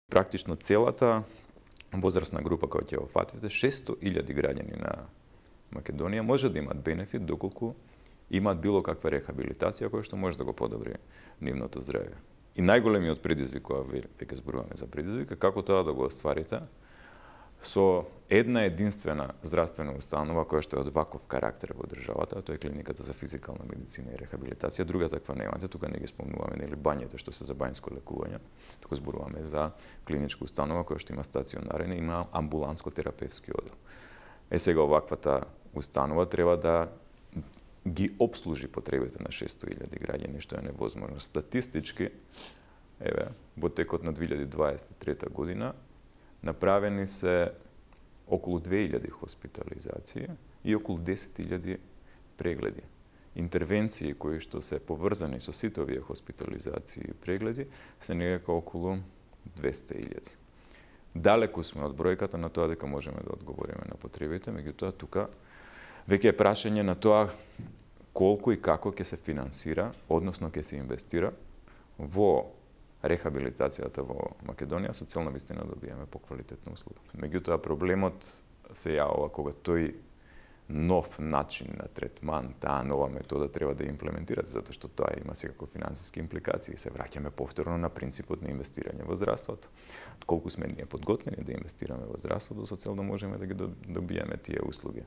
Практично целата возрастна група која ќе опфатите, 600.000 граѓани на Македонија може да имат бенефит доколку имаат било каква рехабилитација која што може да го подобри нивното здравје. И најголемиот предизвик, кога веќе зборуваме за предизвик, како тоа да го остварите со една единствена здравствена установа која што е од ваков карактер во државата, тоа е клиниката за физикална медицина и рехабилитација. Друга таква немате, тука не ги спомнуваме нели бањите што се за бањско лекување, туку зборуваме за клиничка установа која што има стационарен и има амбуланско-терапевски одел. Сега оваквата установа треба да ги обслужи потребите на 600.000 граѓани, што е невозможно. Статистички, во текот на 2023 година, направени се околу 2000 хоспитализации и околу 10.000 прегледи. Интервенции кои што се поврзани со сите овие хоспитализации и прегледи се некако околу 200.000. Далеку сме од бројката на тоа дека можеме да одговориме на потребите, меѓутоа тука веќе е прашање на тоа колку и како ќе се финансира, односно ќе се инвестира во рехабилитацијата во Македонија со цел навистина да добиеме поквалитетна услуга. Меѓутоа проблемот се јавува кога тој нов начин на третман, таа нова метода треба да имплементирате, затоа што тоа има секако финансиски импликации. Се враќаме повторно на принципот на инвестирање во здравството. Колку сме ние подготвени да инвестираме во здравството со цел да можеме да ги добиеме тие услуги.